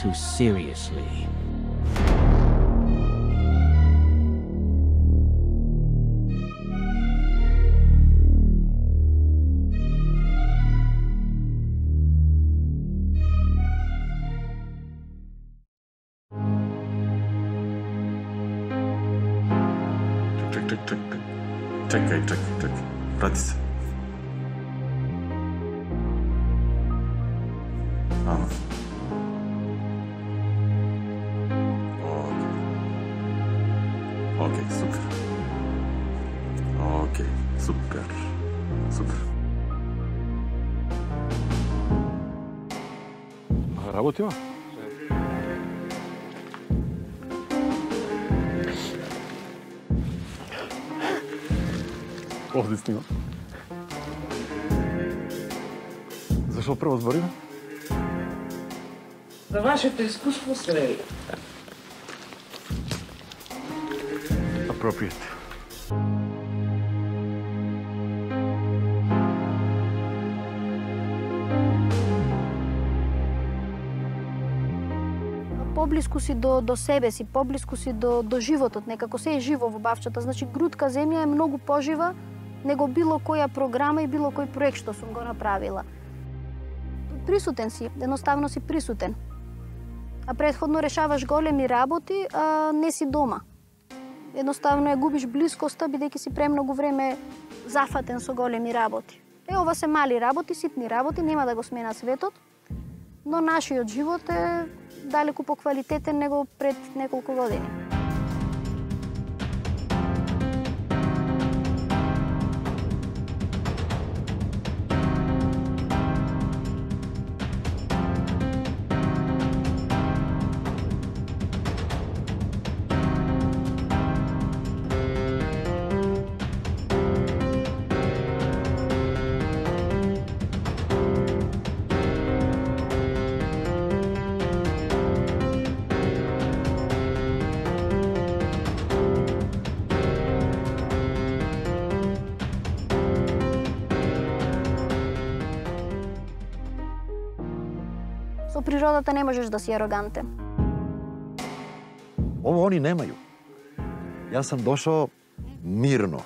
too seriously. Čekaj. Vrati se. Ано. Окей, супер. Окей, супер. Работима? Овде снимам. Зашо прво збориме? За вашето искуство се Appropriate. Поблиску си до себе си, поблиску си до животот, некако се е живо во Бавчата. Значи, Грудка земја е многу пожива него било која програма и било кој проект што сум го направила. Присутен си, едноставно си присутен. А претходно решаваш големи работи, а не си дома. Едноставно ја губиш блискоста, бидејќи си премногу време зафатен со големи работи. Ова се мали работи, ситни работи, нема да го смена светот, но нашиот живот е далеку поквалитетен него пред неколку години. Со природата не можеш да си арогантен. Ово они немају. Јас сам дошao мирно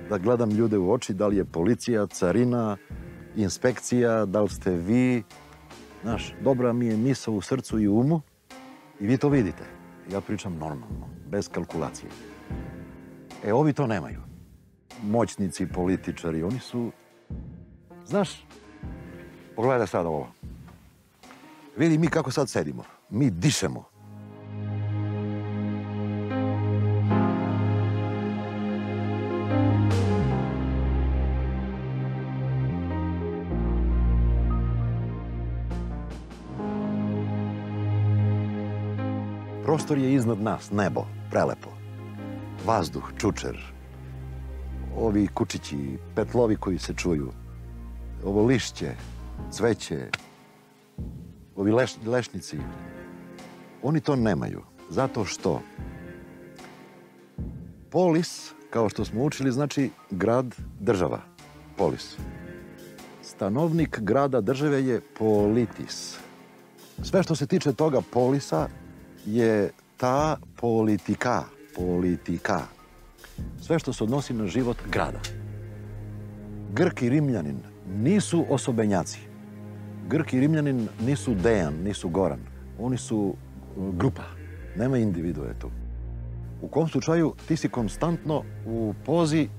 да гледам луѓе во очи, дали е полиција, царина, инспекција, дали сте ви. Знаеш, добра ми е мисла у срцу и уму и ви то видите. Ја причам нормално, без калкулација. Ови то немају. Моćници, политичари, они су... Знаеш, погледај сада ово. Види ми како сад седимо. Ми дишемо. Простор е изнад нас, небо, прелепо. Ваздух, чучер. Ови кучиći, петлови кои се чуju. Ово лишće, цвеće. Ovi lešnici, oni to nemaju, zato što polis, kao što smo učili, znači grad, država, polis. Stanovnik grada, države je politis. Sve što se tiče toga polisa je ta politika. Sve što se odnosi na život grada. Grk i Rimljanin nisu osobenjaci. Grk i Rimljanin nisu Dejan, nisu Goran. Oni su grupa. Nema individue tu. U kom slučaju ti si konstantno u pozi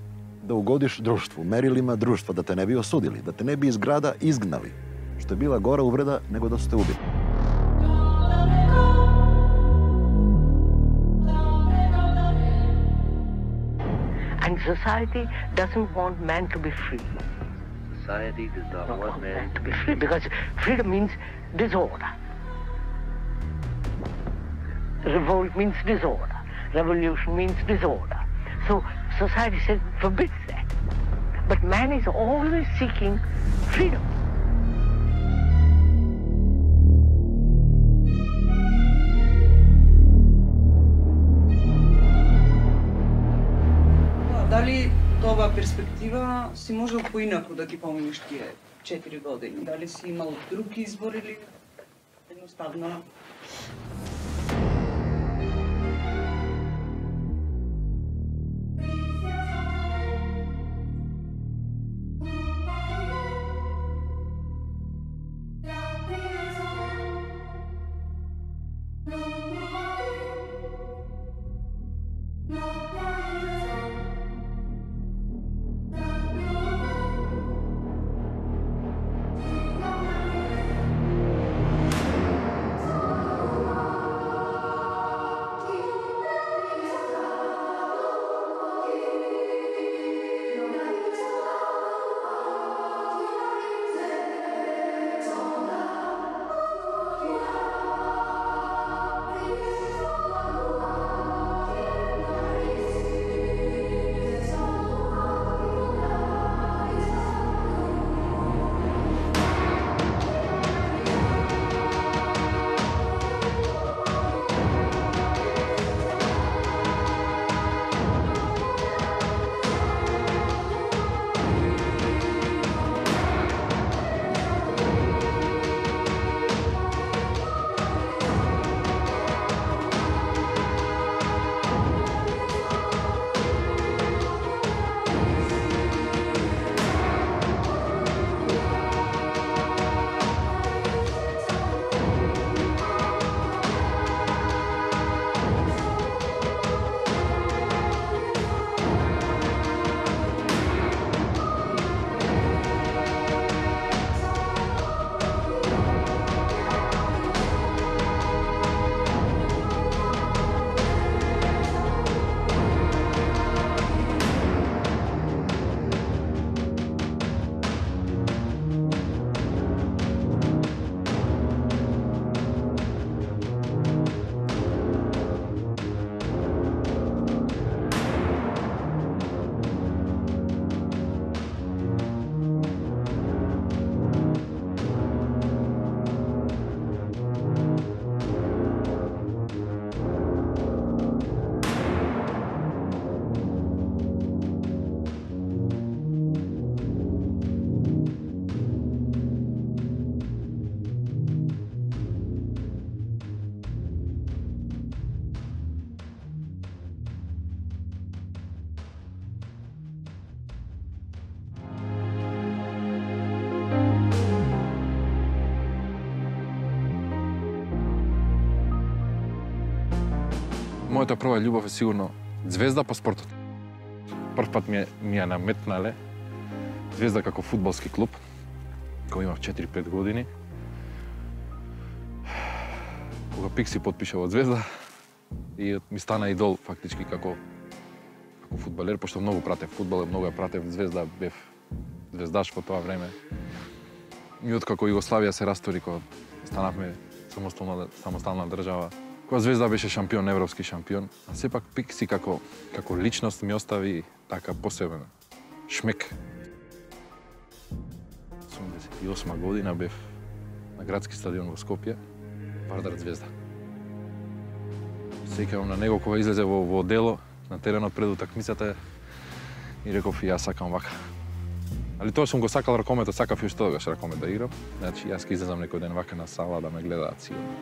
da ugodiš društvu, merilima društva, da te ne bi osudili, da te ne bi iz grada izgnali. Što je bila gora uvreda nego da su te ubili. And society doesn't want man to be free. Society does not want man to be free because freedom means disorder. Revolt means disorder. Revolution means disorder. So society says forbids that. But man is always seeking freedom. Дали тоа перспектива си можел поинаку да ги поминиш тие 4 години? Дали си имал друг избор или Едноставно. Мојата прва љубов е сигурно Звезда по спортот. Прв пат ми ја наметнале Звезда како фудбалски клуб, кога имав 4-5 години. Кога Пикси потпиша во Звезда и ми стана идол фактички како фудбалер, пошто многу пратев фудбал, многу ја пратев Звезда, бев звездаш во тоа време. И откако Југославија се растори, кога станавме самостална држава, кога Звезда беше шампион, европски шампион, а сепак Пикси како личност ми остави така посебен шмек. 88 година бев на градски стадион во Скопје, Вардар Звезда. Сеќавам на него кога излезе во дело на теренот пред утакмицата и реков и јас сакам вака. Али тоа сум го сакал ракометот, сакав и што тогаш ракомет да играм. Значи јас ќе излезам некој ден вака на сала да ме гледаат сигурно.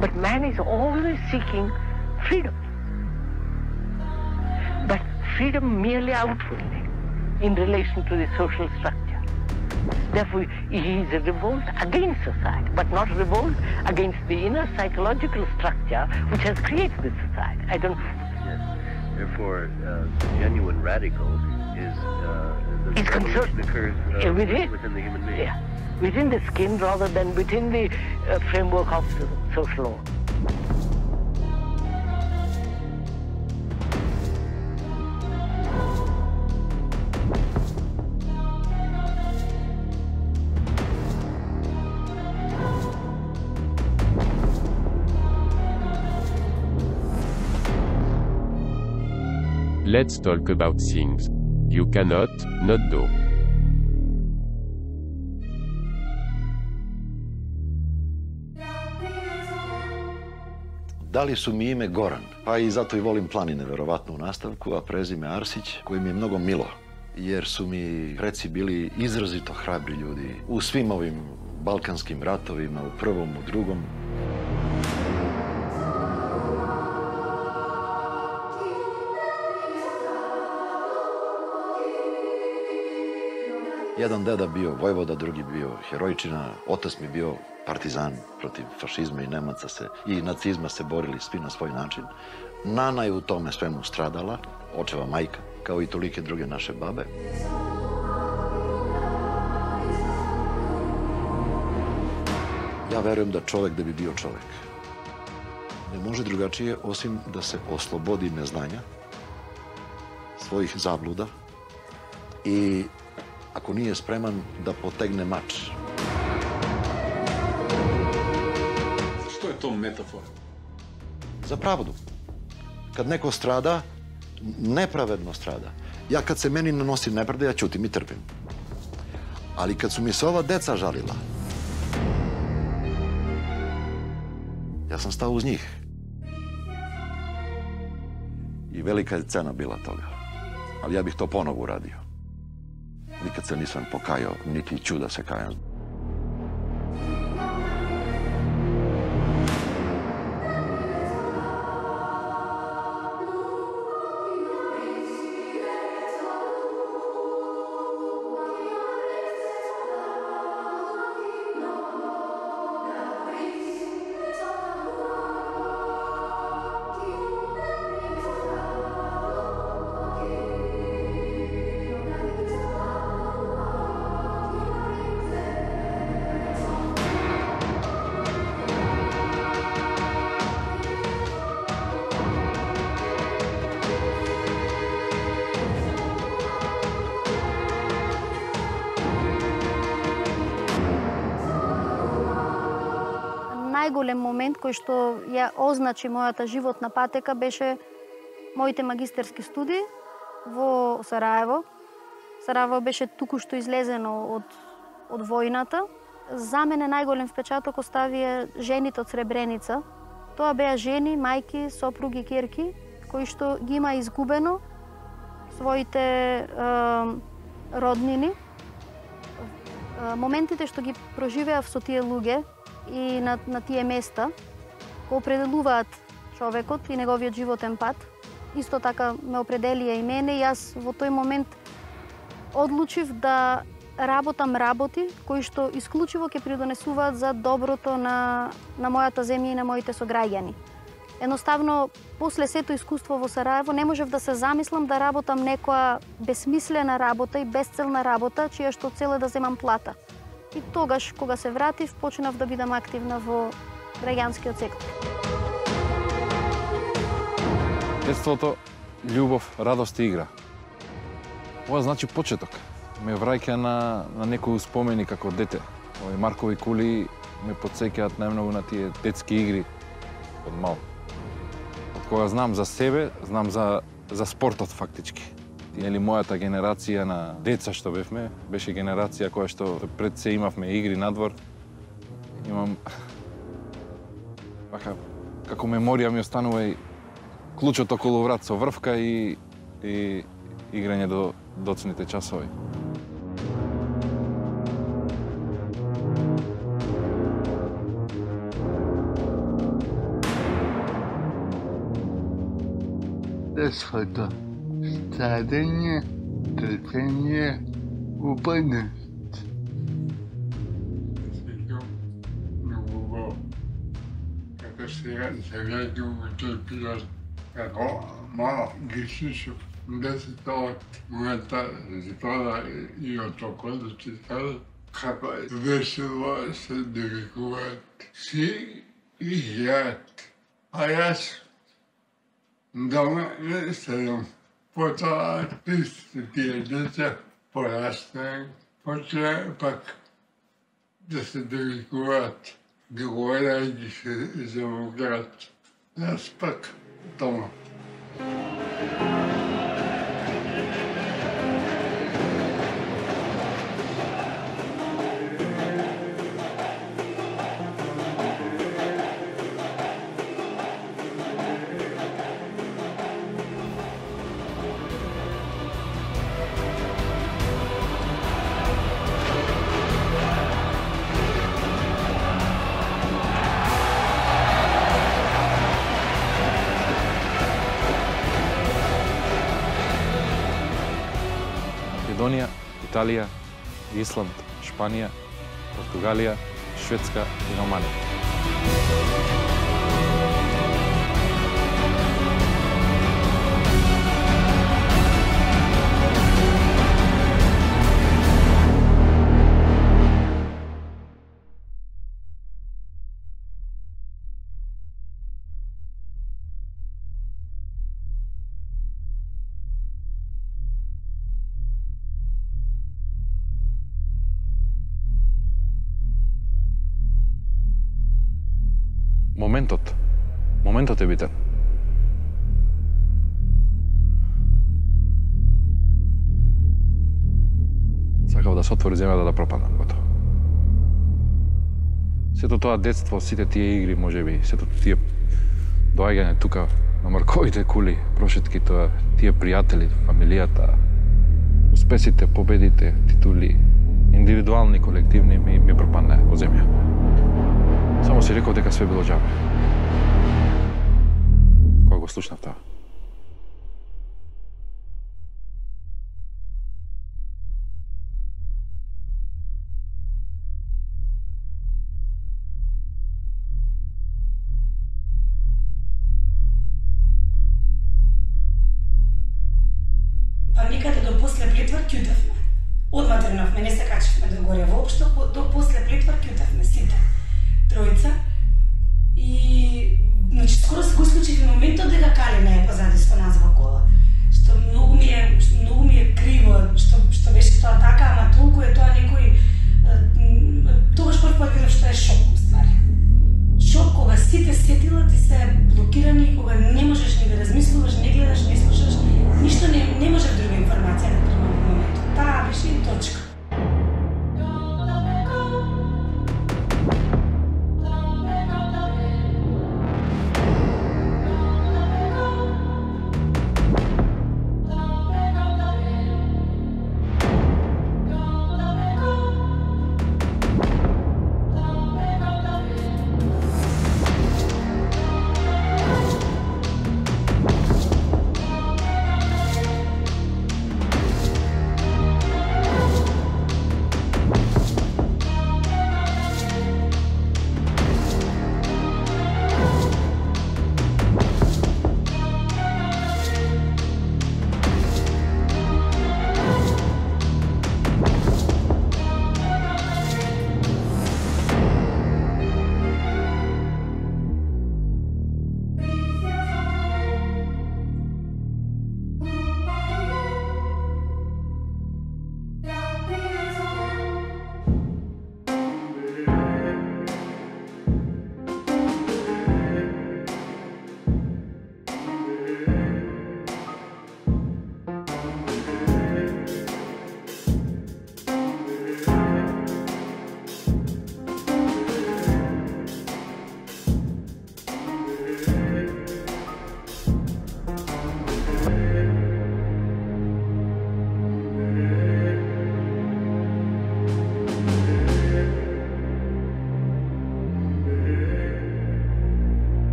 But man is always seeking freedom. freedom merely outwardly in relation to the social structure. Therefore, he is a revolt against society, but not a revolt against the inner psychological structure which has created this society. I don't. Yes. Therefore, genuine radical is the It's revolution concerned occurs within the human being. Yeah, within the skin rather than within the framework of the social law. Let's talk about things you cannot not do. Dali su mi ime Goran, pa i zato i volim planine, verovatno u nastavku, a prezime Arsić, koje mi je mnogo milo, jer su mi preci bili izrazito hrabri ljudi u svim ovim balkanskim ratovima, u prvom, u drugom. Jedan deda bio vojvoda, drugi bio herojčina, otac mi bio partizan protiv fašizma i Nemaca i nacizma se borili svi na svoj način. Nana je u tome svemu stradala, očeva majka, kao i tolike druge naše babe. Ja verujem da čovek da bi bio čovek ne može drugačije osim da se oslobodi neznanja, svojih zabluda i ako nije spreman da potegne mač. Što je to metafora? Za pravdu. Kad neko strada, nepravedno strada. Ja kad se meni nanosi nepravda, ja ćutim i trpim. Ali kad su mi se ova deca žalila, ja sam stao uz njih. I velika je cena bila toga. Ali ja bih to ponovo uradio. Nikad se nisam pokajao, niti ću da se kajam. Најголем момент кој што ја означи мојата животна патека беше моите магистерски студии во Сараево. Сараево беше туку-што излезено од војната. За мене најголем впечаток оставија жените од Сребреница. Тоа беа жени, мајки, сопруги, ќерки, кои што ги има изгубено своите роднини. Моментите што ги проживеав со тие луѓе и на тие места го определуваат човекот и неговиот животен пат. Исто така ме определија и мене. Јас во тој момент одлучив да работам работи кои што исклучиво ќе придонесуваат за доброто на мојата земја и на моите сограѓани. Едноставно, после сето искуство во Сараево не можев да се замислам да работам некоја безсмислена работа и безцелна работа, чија што цел е да земам плата. И тогаш, кога се вратив, почнав да бидам активна во граѓанскиот сектор. Детството, љубов, радост и игра. Ова значи почеток. Ме враќа на некои спомени како дете. Овие Маркови кули ме потсеќаат најмногу на тие детски игри од мал. Од кога знам за себе, знам за спортот фактички. Или мојата генерација на деца што бевме, беше генерација која што пред се имавме игри надвор. Имам како меморија ми останува и клучот околу врат со врвка и играње до доцните часови. Детството, царење, трпение, упадност. Сеќавам многу во како сега се гледам во тој пилот, како мал ги слушав 10 од мојата зикора и од около читала, како весело се навикуваат си и јат. А јас дома не седам. Потоа тие деца порастаат, почнаа пак да се навикуваат, договарајќи се за град. Јас пак дома. Македонија, Италија, Исланд, Шпанија, Португалија, Шведска и Романија. Моментот е битен. Сакав да се отвори земјата да пропаднам, готово. Сето тоа детство, сите тие игри, можеби, сето тие доаѓање тука на марковите кули, прошетки, тоа, тие пријатели, фамилијата, успесите, победите, титули, индивидуални, колективни, ми пропадна во земја. Само си реков дека све било џабе. Кога го слушнав тоа. Па никаде до после Плитвар ќутевме. Одма тргнавме, не се качевме до горе воопшто, до после Плитвар ќутевме сите. Тројца. И значи скоро се го исклучив моментот дека Калина е позади со нас во кола. Што многу ми е криво што беше тоа така, ама толку е тоа некој тогаш прв пат видов што е шок ствари. Шок кога сите сетила ти се блокирани, кога не можеш ни да размислуваш, не гледаш, не слушаш, ништо не можеш друга информација да примам во моментот. Таа беше и точка.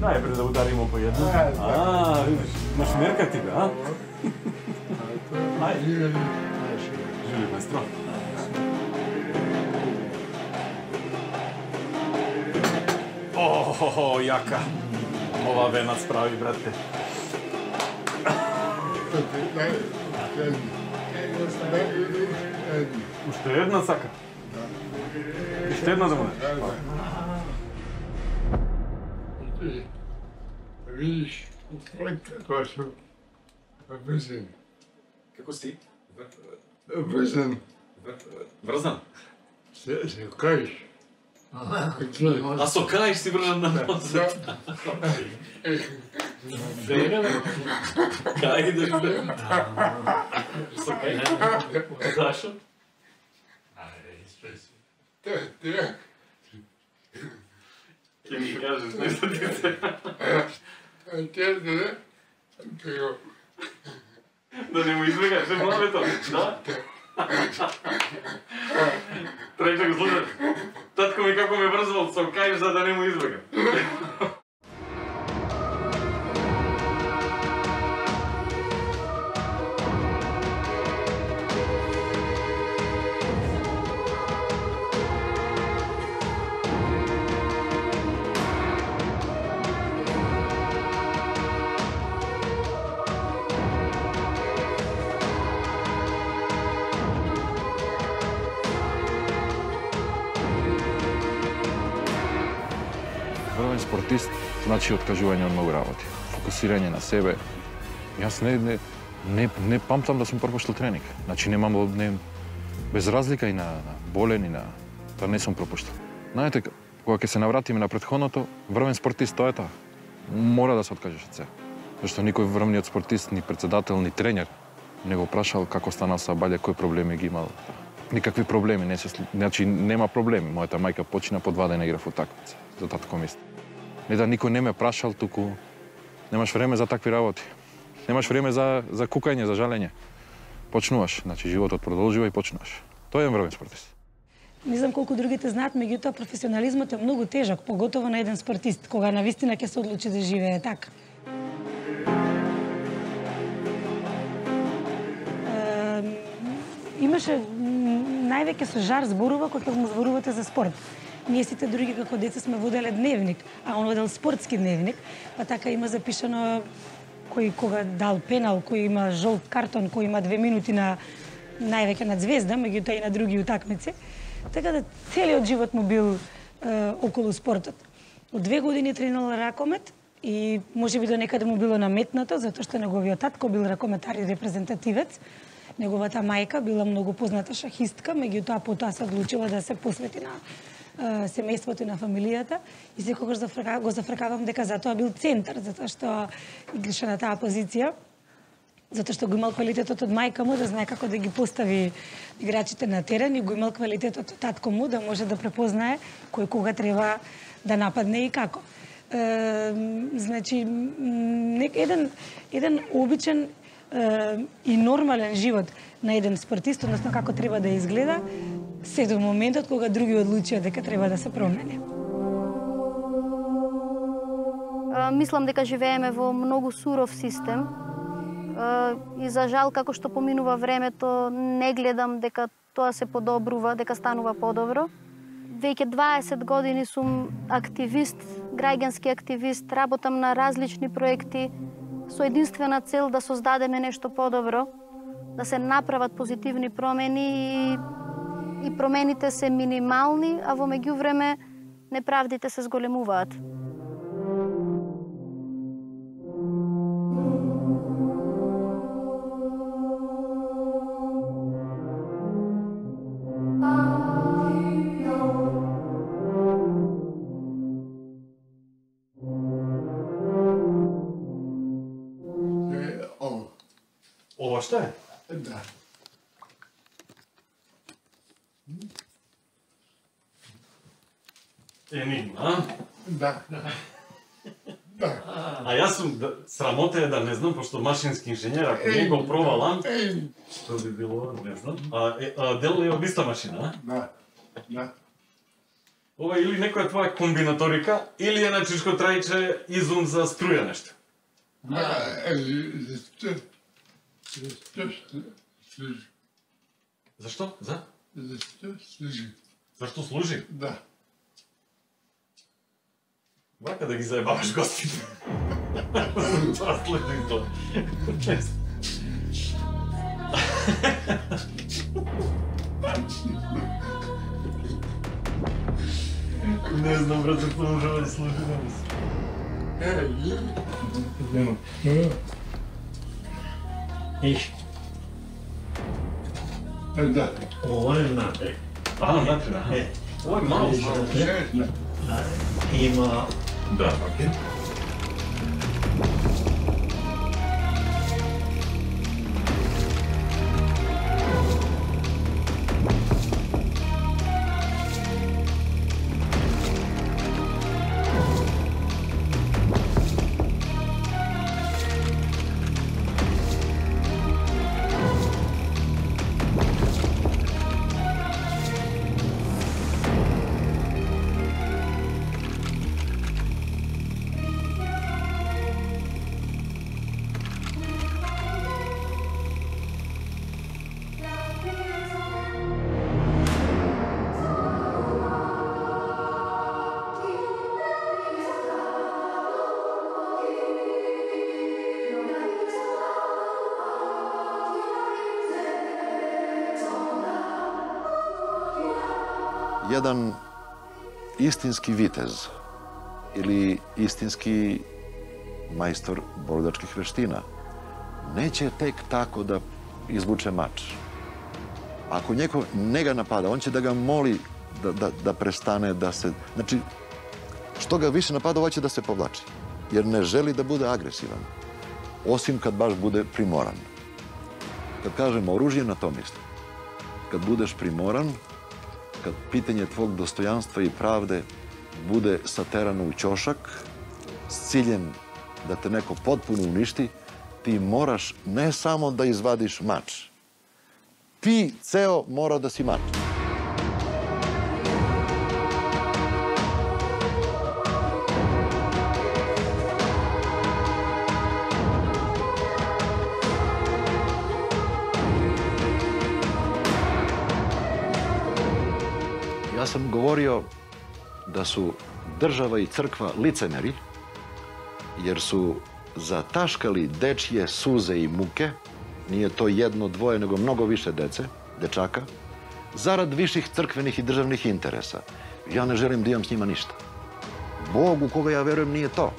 Најпред да ударимо по едно. Видиш, имаш мерка ти бе, а? Ајде. Жили бестро. Јака. Ова венат справи, брате. Уште една сака? Уште една да му Видиш, како сум врзан. Како си? Врзан. Врзан? Се каиш. А со каиш си врзан на носот? Кај идеш бе? Со каиш? Зашо? Ке ми кажеш нешто ти се? Да не му избегаш главето, да? Трече го слушаш. Татко ми како ме врзвал со каиш за да не му избегам. Врвен спортист значи откажување од многу работи, фокусирање на себе. Јас не памтам да сум пропуштил тренинг. Значи без разлика и на болен и на тоа не сум пропуштил. Знаете, кога ќе се навратиме на претходното, врвен спортист тоа е тоа. Мора да се откажеш од себе. Зашто никој врвниот спортист, ни председател, ни тренер не го прашал како станал са балја, кои проблеми ги имал. Никакви проблеми, значи нема проблеми. Мојата мајка почина по 2 дена игра во утакмица за татко мисли. Не да никој не ме прашал, туку немаш време за такви работи. Немаш време за кукање, за жалење. Почнуваш, значи животот продолжува и почнуваш. Тој е врвен спортист. Не знам колку другите знаат, меѓутоа професионализмот е многу тежок, поготово на еден спортист, кога навистина ќе се одлучи да живее така. Имаше највеќе со жар зборува кога ќе му зборувате за спорт. Ние сите други како деца сме воделе дневник, а он водел спортски дневник, па така има запишано кој кога дал пенал, кој има жолт картон, кој има 2 минути на највеќе на Звезда, меѓутоа и на други утакмици. Така да целиот живот му бил околу спортот. Од 2 години тренирал ракомет и можеби до некаде му било наметнато, затоа што неговиот татко бил ракометар и репрезентативец. Неговата мајка била многу позната шахистка, меѓутоа потоа се одлучила да се посвети на семејството и на фамилијата и секогаш го зафркавам дека затоа бил центар, затоа што играше на таа позиција, затоа што го имал квалитетот од мајка му да знае како да ги постави играчите на терен и го имал квалитетот од татко му да може да препознае кој кога треба да нападне и како. Значи еден обичен и нормален живот на еден спортист, односно како треба да изгледа, се до моментот кога други одлучија дека треба да се промени. Мислам дека живееме во многу суров систем и за жал како што поминува времето не гледам дека тоа се подобрува, дека станува подобро. Веќе 20 години сум активист, граѓански активист, работам на различни проекти со единствена цел да создадеме нешто подобро, да се направат позитивни промени и промените се минимални, а во меѓувреме неправдите се зголемуваат. Ова што е? Да. Енигма, а? Да. А јас сум, срамота е да не знам, пошто машински инженер, ако не го пробалам, што би било, не знам. Дел е обиста машина, а? Да. Ова или некоја твоја комбинаторика, или е на чешко трајче изум за струја нешто. Зашто Зашто? За? Зашто служи. Зашто служи? Да. Вака да ги заебаваш гостите. Това служи тоа. Не знам, брат, зашто може да служи на нас. Иш. Да. Ова е внатре. Внатре, да. Ова е мало. Има... Да, окей. Jedan istinski vitez ili istinski majstor borilačkih veština neće tek tako da izvuče mač. Ako njega napada, on će da ga moli da prestane, da se... Znači, što ga više napada, ovaj će da se povlači. Jer ne želi da bude agresivan. Osim kad baš bude primoran. Kad kažemo oružje, na to mislim. Kad budeš primoran, kad pitanje tvog dostojanstva i pravde bude saterano u ćošak s ciljem da te neko potpuno uništi, ti moraš ne samo da izvadiš mač. Ti ceo mora da si mač. Ja sam govorio da su država i crkva licemeri, jer su zataškali dečje suze i muke, nije to jedno, dvoje, nego mnogo više dece, dečaka, zarad viših crkvenih i državnih interesa. Ja ne želim da imam s njima ništa. Bog u koga ja verujem nije to.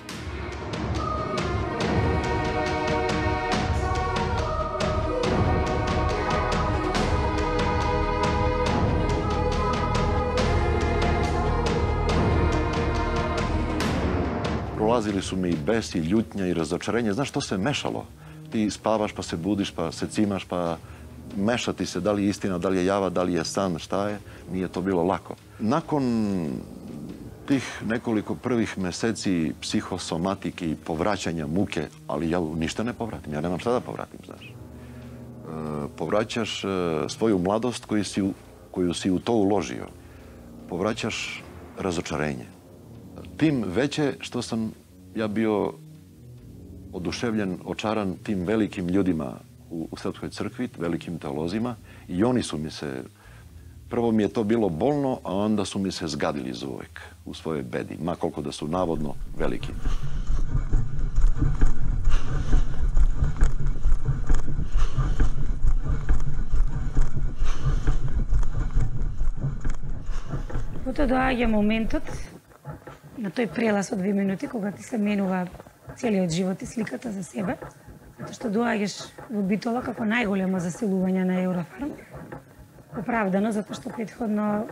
Prolazili su mi i bes, i ljutnja, i razočarenje. Znaš, to se mešalo. Ti spavaš, pa se budiš, pa se cimaš, pa mešati se da li je istina, da li je java, da li je san, šta je. Nije to bilo lako. Nakon tih nekoliko prvih meseci psihosomatike i povraćanja muke, ali ja ništa ne povratim, ja nemam šta da povratim, znaš. Povraćaš svoju mladost koju si u to uložio. Povraćaš razočarenje. Tim veće što sam ja bio oduševljen, očaran tim velikim ljudima u Srpskoj crkvi, velikim teolozima, i oni su mi se, prvo mi je to bilo bolno, a onda su mi se zgadili za uvek u svojoj bedi, ma koliko da su navodno veliki. Потоа доаѓа моментот на тој прелаз од 2 минути, кога ти се менува целиот живот и сликата за себе, затоа што доаѓаш во Битола како најголемо заселување на Еврофарм. Оправдано, затоа што претходно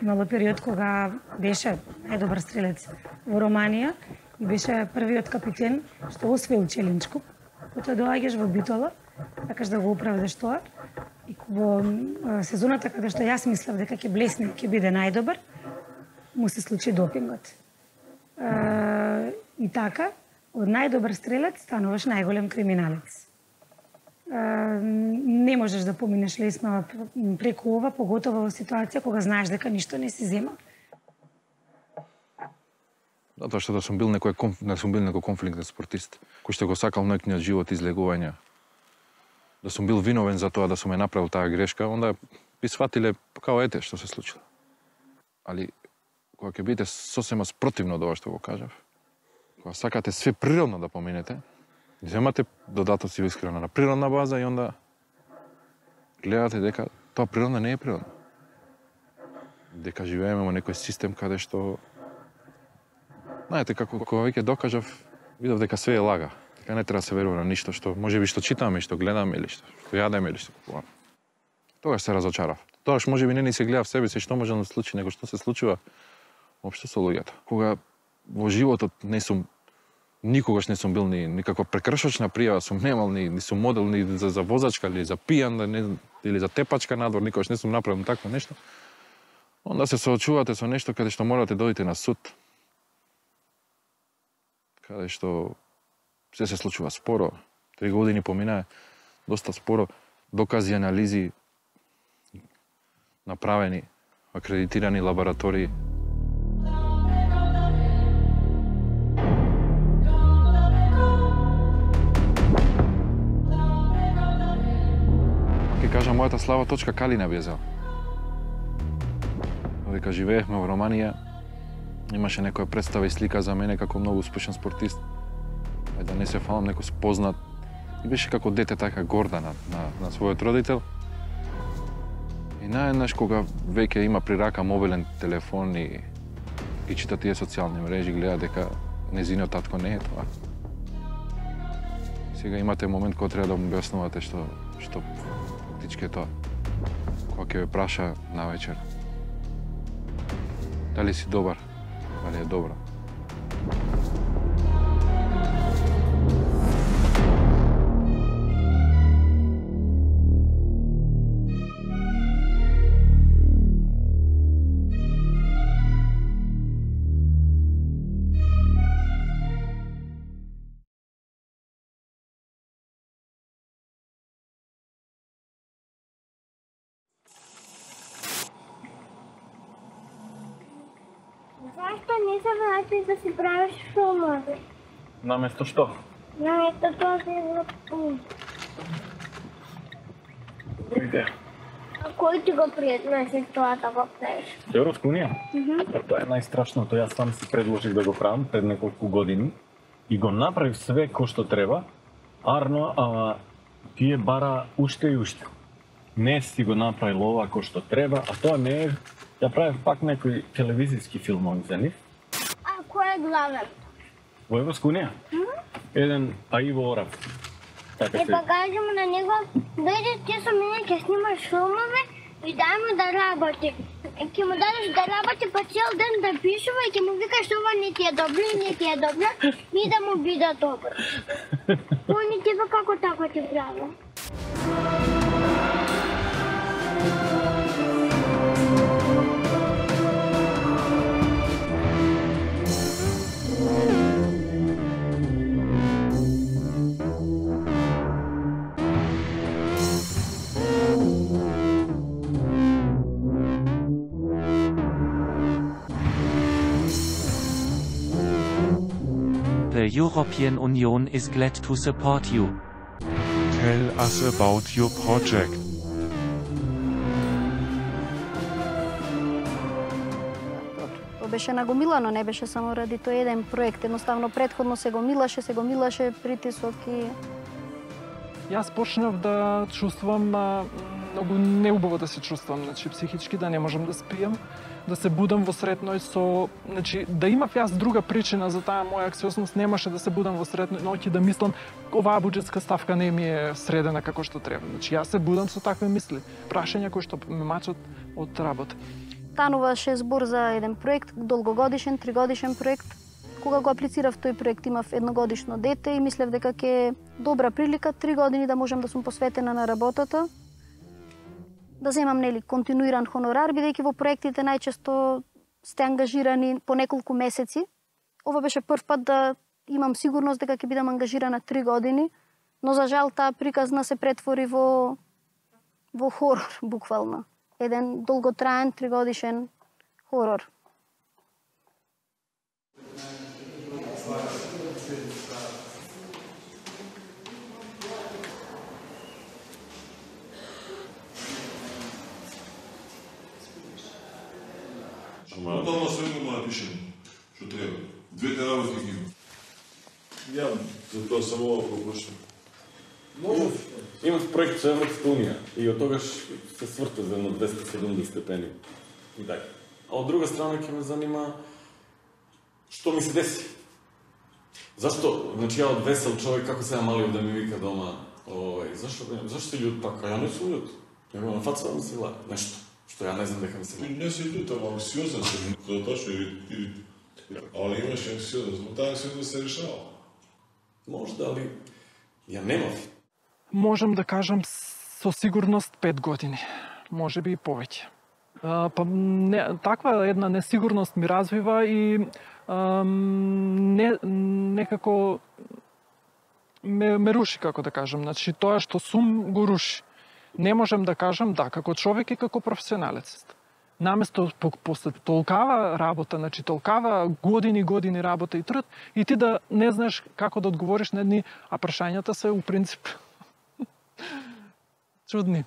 имало период кога беше најдобар стрелец во Романија и беше првиот капитен што освоил Челинчку. Потоа доаѓаш во Битола, сакаш да го оправдаш тоа, и во сезоната кога што јас мислев дека ќе блесне, ќе биде најдобар, му се случи допингот. И така, од најдобар стрелец стануваш најголем криминалец. Не можеш да поминеш лесно преку ова, поготово во ситуација кога знаеш дека ништо не си зема. Затоа што да сум бил некој конфликтен спортист, кој што го сакал нејниот живот излегување. Да сум бил виновен за тоа да сум ја направил таа грешка, онда би сватиле као ете што се случило. Али кога ќе бидете сосема спротивно од ова што го кажав, кога сакате све природно да поминете, земате додатоци искрено на природна база и онда гледате дека тоа природно не е природно. Дека живееме во некој систем каде што знаете, како кога веќе докажав, видов дека све е лага. Дека не треба да се верува на ништо што можеби што читаме, што гледаме или што јадеме или што купуваме. Тогаш се разочарав. Тогаш можеби не ни се гледа в себе си што може да се случи, него што се случува општо со луѓето. Кога во животот никогаш не сум бил ни никаква прекршочна пријава, сум немал ни сум модел ни за возачка или за пијан или за тепачка надвор, никогаш не сум направил такво нешто. Онда се соочувате со нешто каде што морате да дојдете на суд. Каде што се случува споро. 3 години поминаа доста споро, докази, анализи направени, акредитирани лаборатории. Ке кажа мојата слава точка Калина Бјезел. Додека живеевме во Романија, имаше некоја представа и слика за мене како многу успешен спортист. Да не се фалам, некој спознат. И беше како дете така горда на својот родител. И наеднаш кога веќе има при рака мобилен телефон и чита тие социјални мрежи, гледа дека незиниот татко не е тоа. Сега имате момент кога треба да му објаснувате што фактички е тоа. Кога ќе ве праша навечер. Дали си добар? Дали е добра? Зашто не се вратиш да си правиш филмови? Наместо што? Наместо тоа да излапуваш. Добра идеја. А кој ти го предложи тоа да го правиш? Европска унија? Тоа е најстрашното. Јас сам си предложих да го правам пред неколку години и го направив све кој што треба. Арно, ама тие бара уште и уште. Не си го направил ова кој што треба, а тоа не е. Ја правев пак некои телевизиски филмови за нив. А кој е главен? Во Европска унија? Еден Аиво Орав. Така И се. па кажемо на него, дојде ти со мене ќе снимаш филмови и дај му да работи. Ќе му дадеш да работи па цел ден да пишува и ќе му викаш ова не ти е добро и не ти е добро и да му биде добро. Тој не ти како така ти прави. The European Union is glad to support you. Tell us about your project. Тоа беше нагомилано, не беше само ради тој еден проект. Едноставно претходно се го милаше притисок и... Јас почнав да чувствувам многу неубаво да се чувствувам, значи психички да не можам да спијам, да се будам во сред ноќ со, значи да имав јас друга причина за таа моја аксиозност, немаше да се будам во сред ноќ и да мислам оваа буџетска ставка не ми е средена како што треба. Значи јас се будам со такви мисли, прашања кои што ме мачат од работа. Стануваше збор за еден проект, долгогодишен, 3-годишен проект. Кога го аплицирав тој проект, имав едногодишно дете и мислев дека ќе е добра прилика 3 години да можам да сум посветена на работата, да земам континуиран хонорар, бидејќи во проектите најчесто сте ангажирани по неколку месеци. Ова беше прв пат да имам сигурност дека ќе бидам ангажирана 3 години, но за жал таа приказна се претвори во хорор, буквално. Еден долготраен 3-годишен хорор. Одама сведно го напишем, што треба. Двете работи ги има. Ја, за тоа само пропушам. Имам проект со Европска Унија и од тогаш се сврта за едно 270 степени. И така. А од друга страна ќе ме занима што ми се деси. Зашто, значи ја од весел човек како се намалил да ми вика дома, зашто си љут така? Ја не сум љут. Него на фаца да ми се гледа нешто што ја не знам дека ми се гледа. Не си љут, ама анксиозен се, тоа точно или али имаш анксиозен, но таа анксиозен се решава. Можда, али ја немав. Можам да кажам со сигурност 5 години, може би и повеќе. Таква една несигурност ми развива и некако ме руши, како да кажам. Значи, тоа што сум го руши. Не можам да кажам да, како човек и како професионалец. Наместо после толкава работа, значи толкава години работа и труд, и ти да не знаеш како да одговориш на едни, а прашањата се у принцип чудни.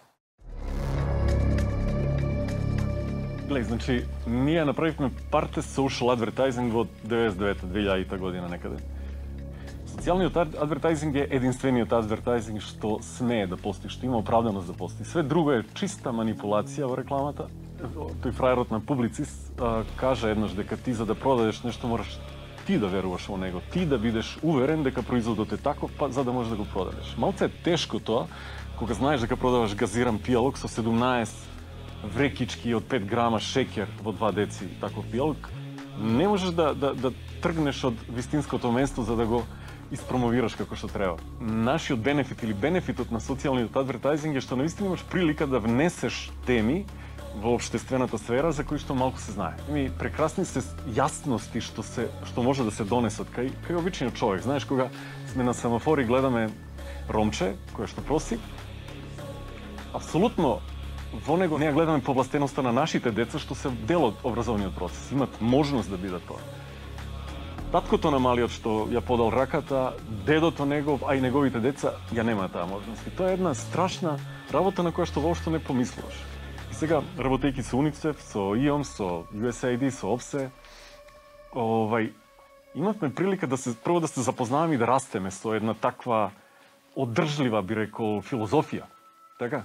Глеј, значи, ние направивме Parte Social Advertising во 99-2000 година некаде. Социјалниот адвертайзинг е единствениот адвертайзинг што смее да постои, што има оправданост да постои. Све друго е чиста манипулација во рекламата. Тој фраерот на Публицист кажа еднаш дека ти за да продадеш нешто мораш ти да веруваш во него, ти да бидеш уверен дека производот е таков, па за да можеш да го продадеш. Малце е тешко тоа, кога знаеш дека продаваш газиран пијалок со 17 врекички од 5 грама шеќер во 2 деци таков пијалок, не можеш да тргнеш од вистинското место за да го испромовираш како што треба. Нашиот бенефит или бенефитот на социјалниот адвертайзинг е што навистина имаш прилика да внесеш теми во општествената сфера за кои што малку се знае. Прекрасни се јасности што може да се донесат кај обичниот човек. Знаеш, кога сме на семафори гледаме ромче кое што проси, апсолутно во него ние гледаме повластеноста на нашите деца што се дел од образовниот процес, имат можност да бидат тоа. Таткото на малиот што ја подал раката, дедото негов, а и неговите деца ја немаат таа можност. И тоа е една страшна работа на која што воопшто не помислуваш. И сега, работејќи со УНИЦЕФ, со ИОМ, со USAID, со ОПСЕ, имавме прилика прво да се запознаваме и да растеме со една таква одржлива, би рекол, филозофија. Така?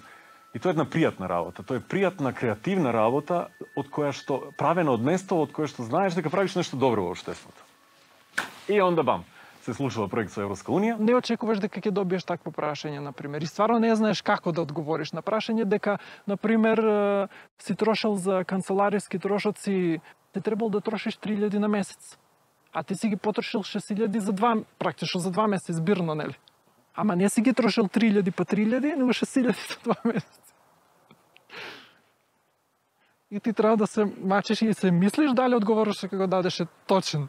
И тоа е една пријатна работа. Тоа е пријатна, креативна работа од која што правена од место од кое што знаеш дека правиш нешто добро во општеството. И онда бам, се случува проект со Европска Унија. Не очекуваш дека ќе добиеш такво прашање, например. И стварно не знаеш како да одговориш на прашање дека, например, си трошел за канцелариски трошоци, ти требало да трошиш 3000 на месец. А ти си ги потрошил 6000 практично за 2 месеци збирно, нели? Ама не си ги трошил 3000 па 3000, него 6000 за 2 месеци. И ти треба да се мачиш и се мислиш дали одговориш дека го дадеше точен.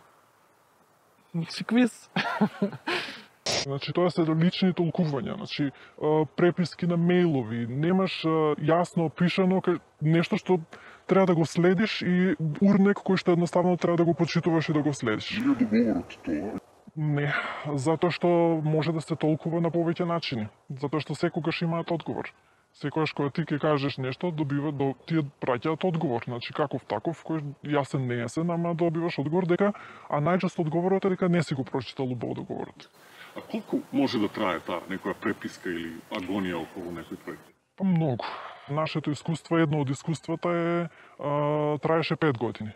Значи, квиз. Значи, тоа се лични толкувања, значи, преписки на мејлови, немаш јасно опишано нешто што треба да го следиш и урнек кој што едноставно треба да го почитуваш и да го следиш. Не договорот тоа. Не, затоа што може да се толкува на повеќе начини, затоа што секогаш имаат одговор. Секогаш кога ти ќе кажеш нешто, тие праќаат одговор, значи каков таков, кој јасен не јасен, ама добиваш одговор дека, а најчесто одговорот е дека не си го прочитал убаво договорот. А колку може да трае таа некоја преписка или агонија околу некој проект? Па многу. Нашето искуство, едно од искуствата траеше 5 години.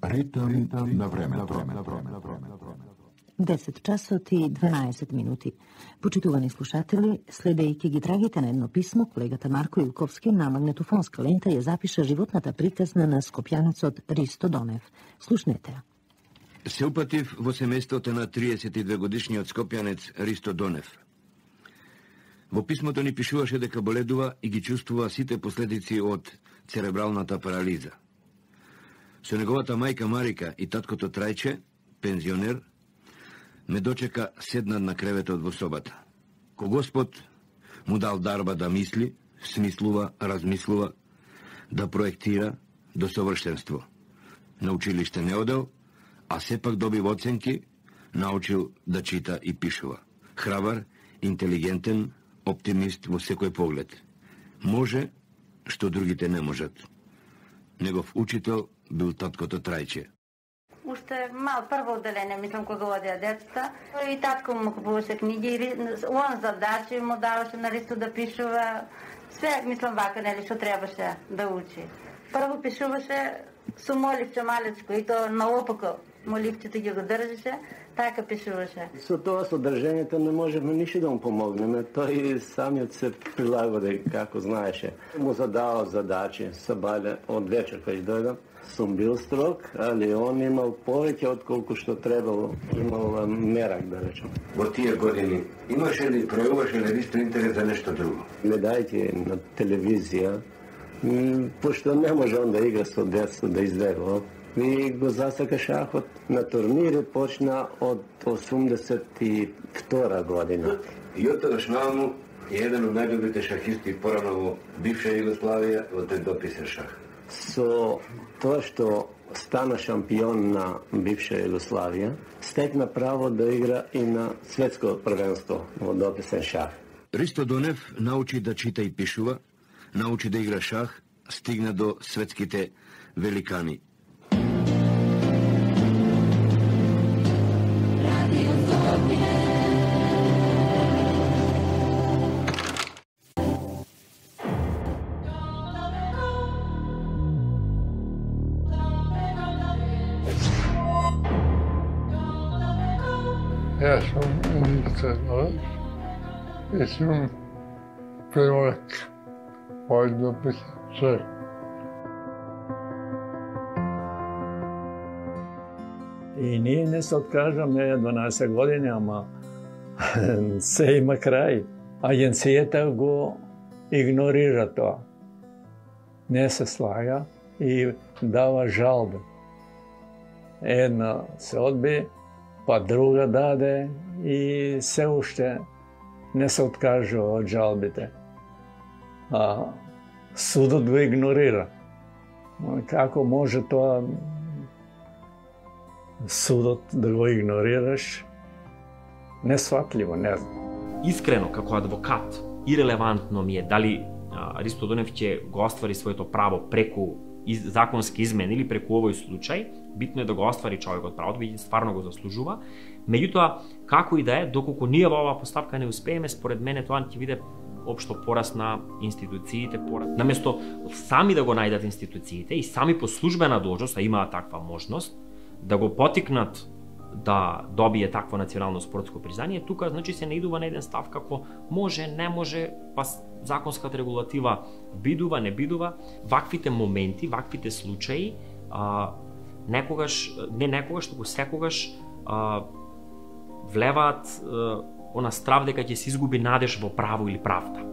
Ритм на време. 10 часот и 12 минути. Почитувани слушатели, следејќи ги трагите на едно писмо, колегата Марко Илковски на магнетофонска лента ја запиша животната приказна на скопјанецот Ристо Донев. Слушнете ја. Се упатив во семејството на 32 годишниот скопјанец Ристо Донев. Во писмото ни пишуваше дека боледува и ги чувствува сите последици од церебралната парализа. Со неговата мајка Марика и таткото Трајче, пензионер, ме дочека седнат на креветот во собата. Ко Господ му дал дарба да мисли, смислува, размислува, да проектира до совршенство. На училиште не одел, а сепак добив оценки, научил да чита и пишува. Храбар, интелигентен, оптимист во секој поглед. Може, што другите не можат. Негов учител бил таткото Трајче. Уште мал прво одделение, мислам, кога одеа децата. И татко му купуваше книги, он задачи му даваше на Ристо да пишува. Све, мислам, вака, нели, што требаше да учи. Прво пишуваше со моливче малечко, и то наопако моливчето ги го држеше, така пишуваше. Со тоа содржањето не можеме ништо да му помогнеме. Тој самиот се прилагоди како знаеше. Му задавал задачи, сабале од вечер кога дојдам. Сум бил строг, али он имал повеќе од колку што требало. Имал мерак, да речем. Во тие години имаше ли, пројавуваше ли Ристо интерес за нешто друго? Не дајте на телевизија, пошто не може он да игра со деца, да избегува. И го засака шахот. На турнири почна од 82 година. И од тогаш нааму е еден од најдобрите шахисти порано во бивша Југославија во тој дописен шах. Со тоа што стана шампион на бивша Југославија, стекна право да игра и на светско првенство во дописен шах. Ристо Донев научи да чита и пишува, научи да игра шах, стигна до светските великани. Јас сум универзитет и сум преводач од дописен шах. И ние не се откажаме 12 години, ама се има крај. Агенцијата го игнорира тоа. Не се слага и дава жалби. Една се одби, па друга даде и се уште не се откажува од жалбите. А судот го игнорира. Како може тоа судот да го игнорираш? Несватливо, не знам. Искрено, како адвокат, ирелевантно ми е дали Ристо Донев ќе го оствари своето право преку законски измени или преку овој случај. Битно е да го оствари човекот правото, бидејќи стварно го заслужува. Меѓутоа, како и да е, доколку ние во оваа постапка не успееме, според мене тоа ќе биде општо пораз на институциите, наместо сами да го најдат институциите и сами по службена должност, а имаат таква можност, да го потикнат да добие такво национално спортско признание, тука значи се наидува на еден став како може, не може, па законската регулатива бидува, не бидува. Ваквите моменти, ваквите случаи, туку секогаш влеваат она страв дека ќе се изгуби надеж во право или правда.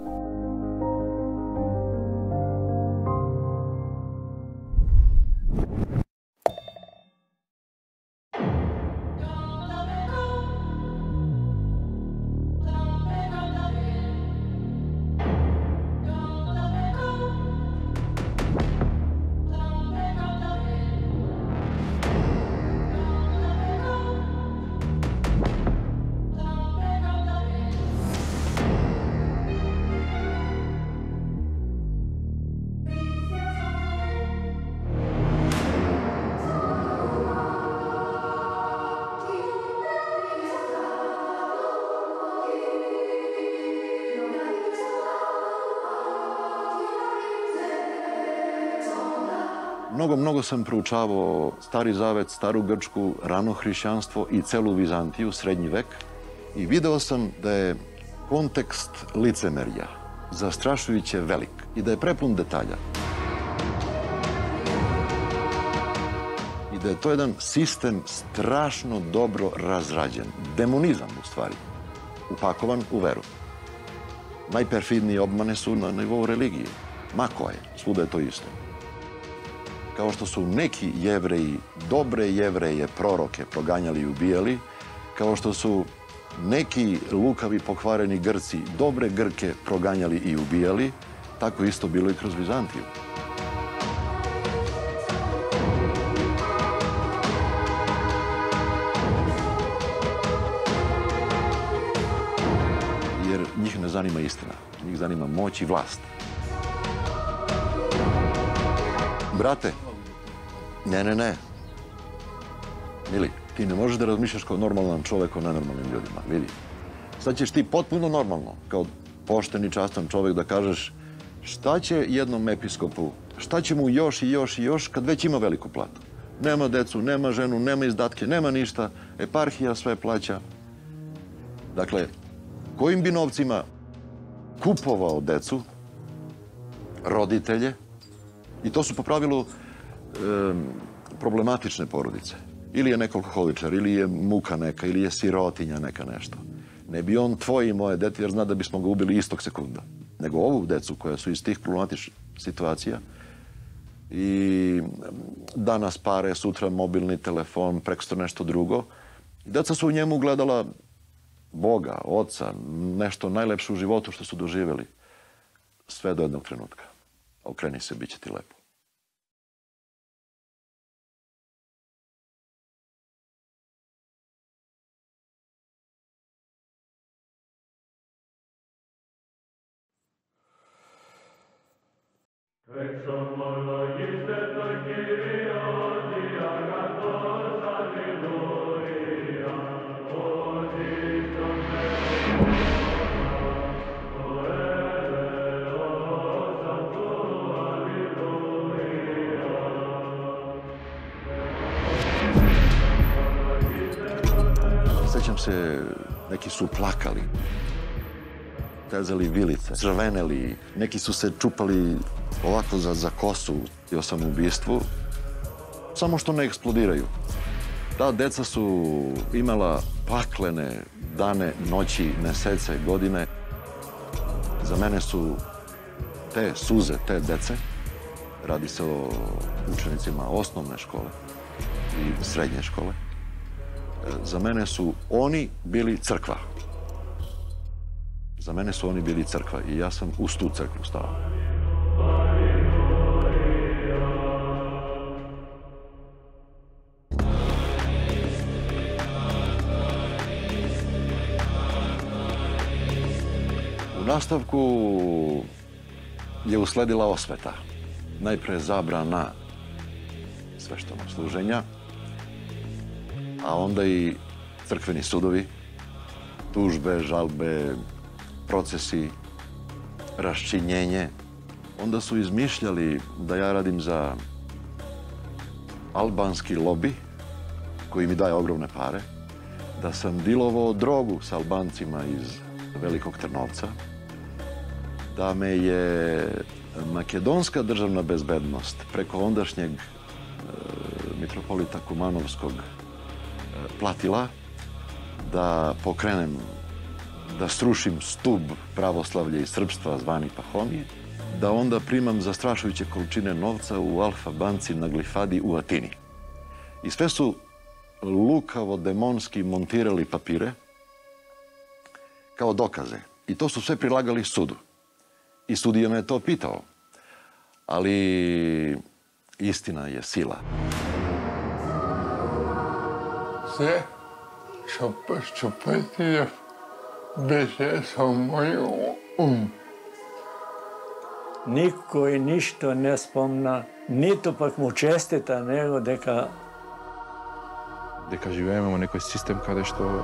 Много sam proučavao Stari Zavet, Staru Grčku, rano hrišćanstvo i celu Vizantiju, srednji vek, i video sam da je kontekst licemerja zastrašujuće velik i da je prepun detalja. I da je to jedan sistem strašno dobro razrađen. Demonizam, u stvari, upakovan u veru. Najperfidnije obmane su na nivou religije. Ma koje, svuda je to isto. Kao što su neki Jevreji, dobre Jevreje, proroke proganjali i ubijali, kao što su neki lukavi pokvareni Grci, dobre Grke proganjali i ubijali, tako isto bilo i kroz Vizantiju. Jer njih ne zanima istina, njih zanima moć i vlast. Brate, ne. Mili, ti ne možeš da razmišljaš kao normalan čovek o nenormalnim ljudima, vidi. Sad ćeš ti potpuno normalno, kao pošten i častan čovek, da kažeš šta će jednom episkopu, šta će mu još i još i još kad već ima veliku platu. Nema decu, nema ženu, nema izdatke, nema ništa, eparhija sve plaća. Dakle, kojim bi novcima kupovao decu, roditelje, i to su po pravilu problematične porodice. Ili je neko alkoholičar, ili je muka neka, ili je sirotinja neka nešto. Ne bi on tvoje i moje dete, jer zna da bismo ga ubili istog sekunda. Nego ovu decu koja su iz tih problematičnih situacija i danas pare, sutra mobilni telefon, preksutra nešto drugo. Deca su u njemu gledala Boga, Oca, nešto najlepše u životu što su doživjeli. Sve do jednog trenutka. Okreni se, bit će ti lepo. Sećam se, neki su plakali, tezali vilice, crveneli, neki su se čupali ovako za kosu o samoubistvu, samo što ne eksplodiraju. Ta deca su imala paklene dane, noći, mesece, godine. Za mene su te suze, te dece, radi se o učenicima osnovne škole i srednje škole, za mene su oni bili crkva. Za mene su oni bili crkva i ja sam uz tu crkvu stao. U nastavku je usledila osveta. Najpre zabrana sveštenog služenja, a onda i crkveni sudovi, tužbe, žalbe, procesi, raščinjenje. Onda su izmišljali da ja radim za albanski lobi, koji mi daje ogromne pare, da sam dilovao drogu sa Albancima iz Velikog Trnovca, da me je makedonska državna bezbednost preko ondašnjeg mitropolita Kumanovskog platila da pokrenem, da srušim stub pravoslavlja i srpstva zvani Pahomije, da onda primam zastrašujuće količine novca u Alfa banci na Glifadi u Atini. I sve su lukavo, demonski montirali papire kao dokaze. I to su sve prilagali sudu. I sudija me to pitao. Ali istina je sila. Sve što pretio беше со мој Никој ништо не спомна, ниту пак му честита него дека живееме во некој систем каде што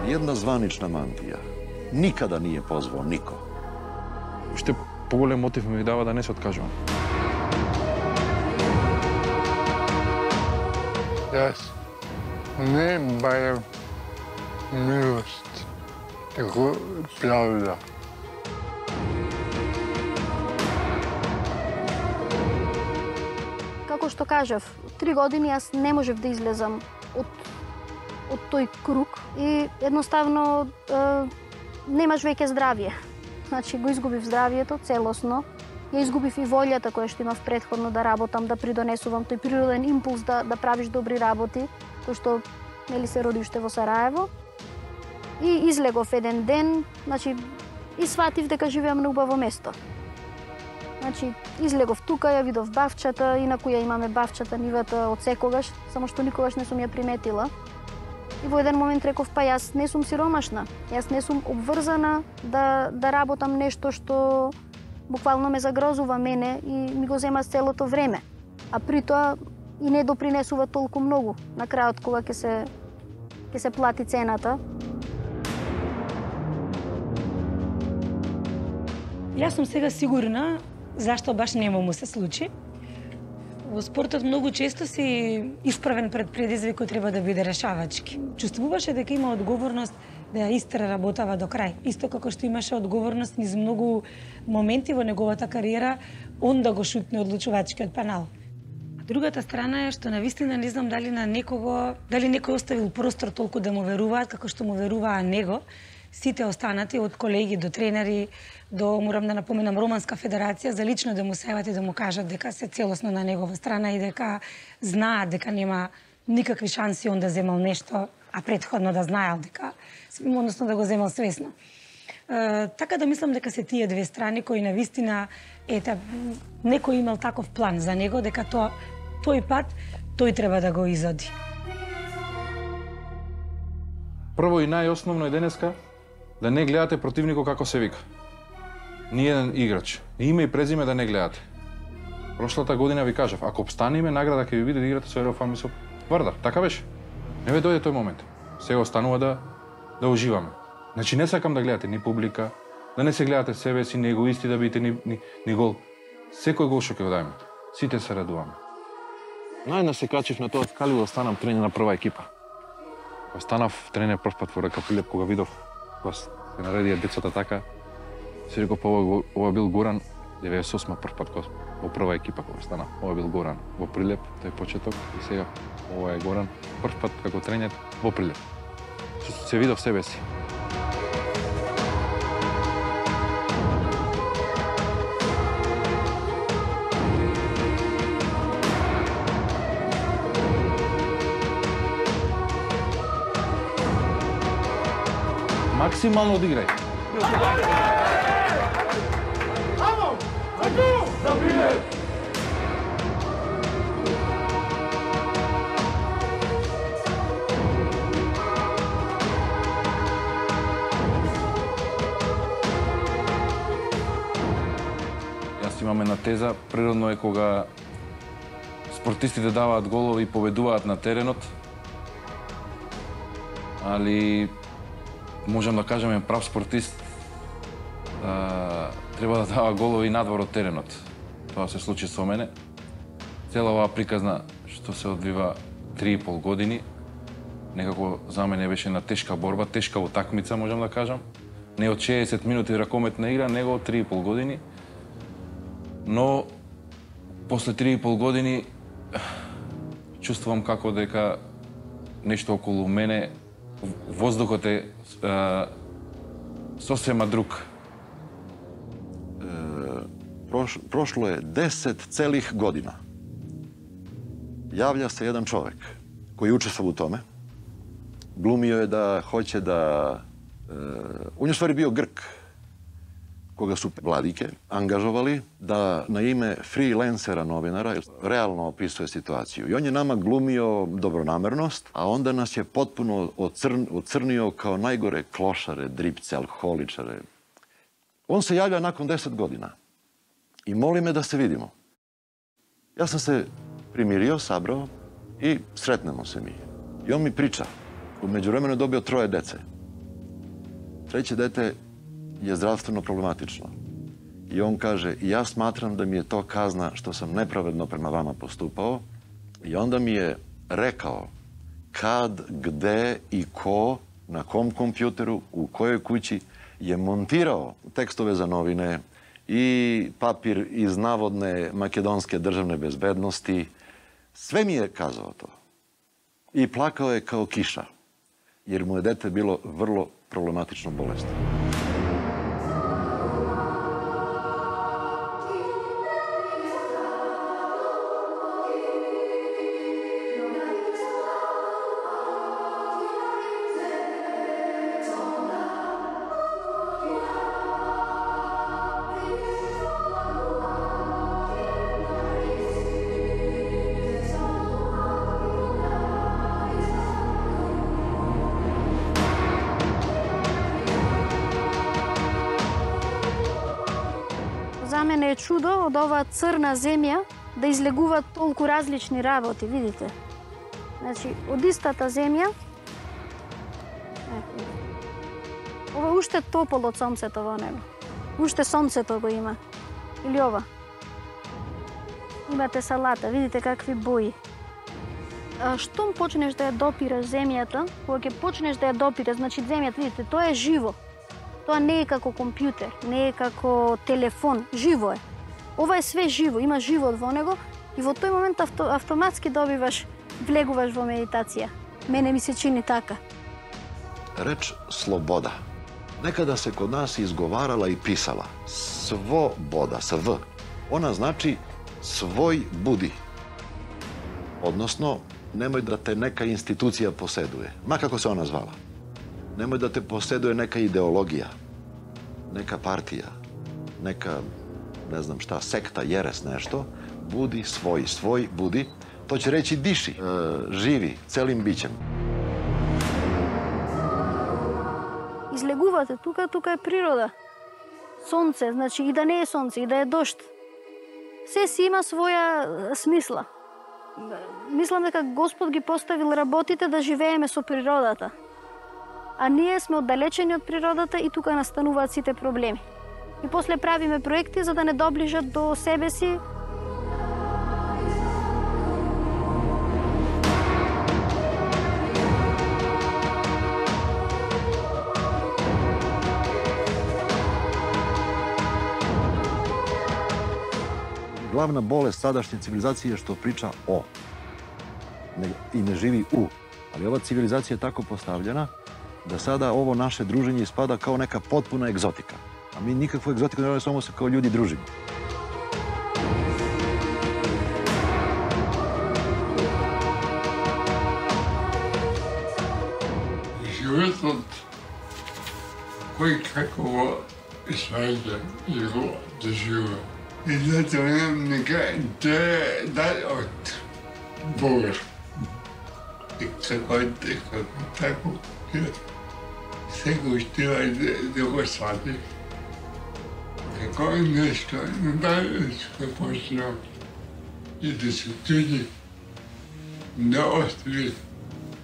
една званична мантија никада nije позвao нико. Уште поголем мотив ми дава да не се откажувам. Јас не барам милост, тако правда. Како што кажав, 3 години јас не можев да излезам од тој круг и едноставно немаш веќе здравје. Значи го изгубив здравјето целосно. Ја изгубив и волјата која што имав претходно да работам, да придонесувам тој природен импулс да правиш добри работи, кој што нели се роди уште во Сараево. И излегов еден ден, значи и сватив дека живеам на убаво место. Значи излегов тука, ја видов бавчата, инаку ја имаме бавчата нивата од секогаш, само што никогаш не сум ја приметила. И во еден момент реков, па јас не сум сиромашна, јас не сум обврзана да работам нешто што буквално ме загрозува мене и ми го зема целото време. А при тоа и не допринесува толку многу на крајот кога ќе се плати цената. Јас сум сега сигурна зашто баш нема му се случи. Во спортот многу често си исправен пред предизвик кој треба да биде решавачки. Чувствуваше дека има одговорност да ја истера работава до крај. Исто како што имаше одговорност низ многу моменти во неговата кариера, он да го шутне одлучувачкиот панал. А другата страна е што навистина не знам дали некој оставил простор толку да му веруваат како што му веруваа него. Сите останати, од колеги до тренери, до, морам да напоменам, Романска федерација, за лично да му се јават и да му кажат дека се целосно на негова страна и дека знаат дека нема никакви шанси он да земал нешто, а претходно да знаел дека, односно да го земал свесно. Така да мислам дека се тие две страни кои навистина, некој имал таков план за него, дека тој пат, тој треба да го изоди. Прво и најосновно е денеска да не гледате противникот како се вика. Ниеден играч. Име и презиме да не гледате. Прошлата година ви кажав, ако обстанеме, награда ќе ви биде да играте со Ерофан и со Вардар. Така беше. Не ве дојде тој момент. Сега останува да уживаме. Значи не сакам да гледате ни публика, да не се гледате себе си, ни егоисти да бидете ни гол. Секој гол што ќе го дајме. Сите се радуваме. Најднаш се качив на тоа скаливо да станам тренер на прва екипа. Кога станав тренер прв пат во Река Пилеп, кога видов кога се наредија децата така, си реков, ова бил Горан, 98 прв пат во прва екипа кога станав. Ова бил Горан во Прилеп, тој почеток, и сега ова е Горан прв пат како тренер во Прилеп. Се видов себе си. Максимално одиграј. Јас имам една теза, природно е кога спортистите даваат голови и победуваат на теренот, али можам да кажем, прав спортист треба да дава голови надвор од теренот. Тоа се случи со мене. Цела оваа приказна што се одвива 3,5 години, некако за мене беше една тешка борба, тешка утакмица, можам да кажам. Не од 60 минути ракометна игра, него од 3,5 години. Но после 3,5 години чувствувам како дека нешто околу мене, воздухот е сосема друг. Прошло е 10 целих година. Јавља се еден човек кој учествува у томе. Глумио е да хоќе да... Он ствари био Грк. Кога су владике ангажовали да на име фриленсера новинара реално описува ситуацију. И он е нама глумио добронамерност, а онда нас е потпуно оцрнио као најгоре клошаре, дрипце, алкохоличаре. Он се јавја након 10 година и моли ме да се видимо. Јас сам се примирио, сабрао и сретнемо се ми. И он ми прича. У меѓувремену добио 3 деце. Треće dete je zdravstveno problematično. I on kaže, ja smatram da mi je to kazna što sam nepravedno prema vama postupao. I onda mi je rekao kad, gde i ko, na kom kompjuteru, u kojoj kući je montirao tekstove za novine i papir iz navodne makedonske državne bezbednosti. Sve mi je kazao to. I plakao je kao kiša, jer mu je dete bilo vrlo problematično bolesno. За мене е чудо од оваа црна земја да излегуваат толку различни работи, видите? Значи, од истата земја, ова уште топол од сонцето во него. Уште сонцето го има. Или ова. Имате салата, видите какви бои. Штом почнеш да ја допираш земјата, кога ќе почнеш да ја допираш, значи земјата, видите, тоа е живо. Тоа не е како компјутер, не е како телефон, живо е. Ова е све живо, има живот во него и во тој момент автоматски влегуваш во медитација. Мене ми се чини така. Реч слобода. Некада се код нас изговарала и писала. Свобода, с В. Она значи свој буди. Односно, немој да те нека институција поседуе, ма како се она звала. Немој да те поседуе нека идеологија, нека партија, нека, не знам шта, секта, јерес, нешто. Буди свој буди. То ќе речи диши, живи, целим биќем. Излегувате тука е природа. Сонце, значи и да не е сонце, и да е дожд. Се си има своја смисла. Мислам дека Господ ги поставил работите да живееме со природата. А ние сме оддалечени од природата и тука настануваат сите проблеми. И после правиме проекти за да не доближат до себе си. Главна болест садашње цивилизација е што прича о и не живи у. Али ова цивилизација е тако поставljena да сада ово наше дружење испада као нека потпуна екзотика. А ми никаква екзотика не само се као људи дружиме. Животот кој како го сваѓа и го доживува. И затоа немам нека дај од Бога. И како тако, секој штива да го свати. Како нешто, дај што почнав и да се туди, да остави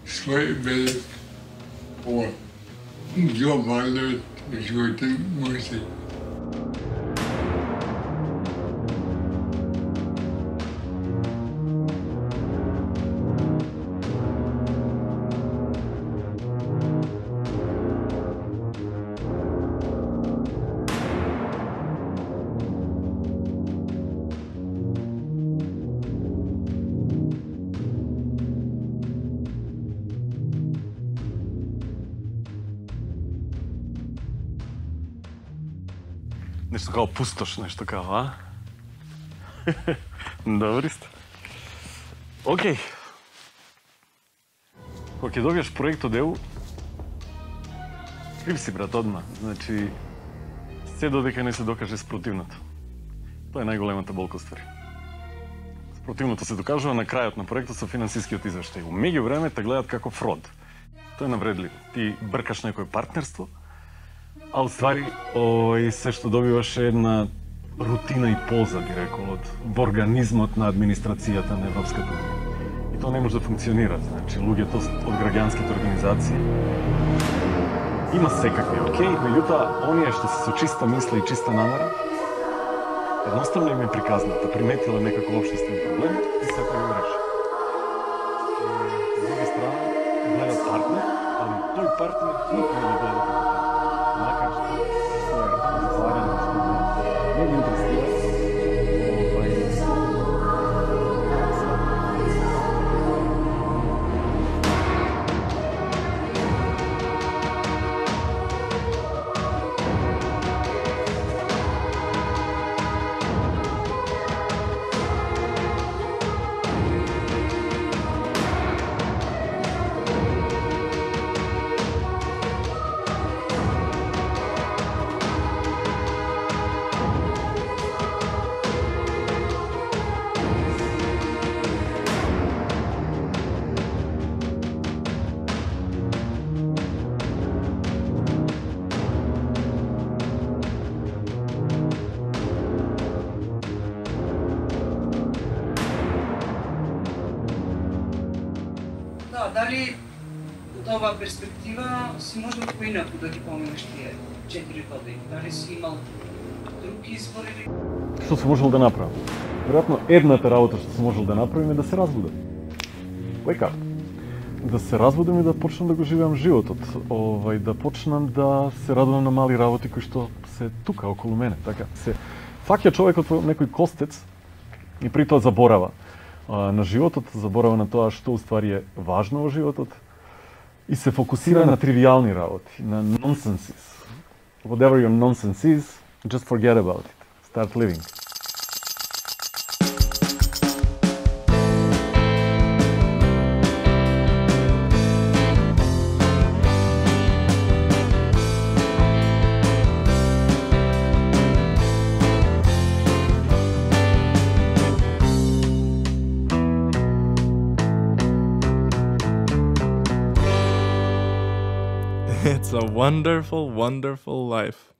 свој белек по глобалниот животен музеј. Нешто као пустош, нешто као, а? Добри сте. Океј. Кога ќе добиеш проектот ЕУ, крив си, брат, одма. Значи, се додека не се докаже спротивното. Тоа е најголемата болка ствари. Спротивното се докажува на крајот на проектот со финансискиот извештај. У меѓувреме те гледат како фрод. Тоа е навредливо. Ти бркаш некој партнерство, а уствари, се што добиваш е една рутина и полза, би рекол, во организмот на администрацијата на Европската унија. И тоа не може да функционира. Значи, луѓето од граѓанските организации има секакви, окей, меѓутоа, оние што се со чиста мисла и чиста намера, едноставно им е приказната, приметила некако општествен проблем и се тоа го реши. страна гледат партнер, али тој партнер никога не гледа како партнер. Макар што своја залагање што не ги интересира дали од оваа перспектива си можел поинаку да ги поминеш тие 4 години? Дали си имал друг избор или... Што се можел да направам? Веројатно едната работа што се можел да направим е да се разбудам. Wake up. Да се разбудам и да почнам да го живеам животот. Да почнам да се радувам на мали работи кои што се тука околу мене. Така се фаќа човекот во некој костец и при тоа заборава на животот, заборава на тоа што уствари е важно во животот и се фокусира на тривијални работи, на nonsenses. Whatever your nonsense is, just forget about it. Start living. It's a wonderful, wonderful life.